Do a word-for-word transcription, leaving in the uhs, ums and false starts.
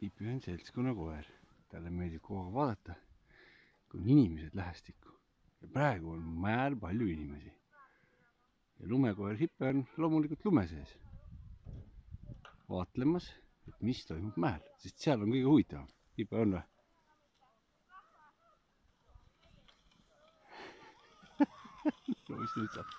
Hipi on seltskonnakoer, talle meeldib kogu aeg vaadata, kui on inimesed lähestikku. Ja praegu on mäel palju inimesi. Ja lumekoer Hipe on loomulikult lume sees. Vaatlemas, et mis toimub mäel, sest seal on kõige huvitavam. Hipe on või? No mis nüüd saab?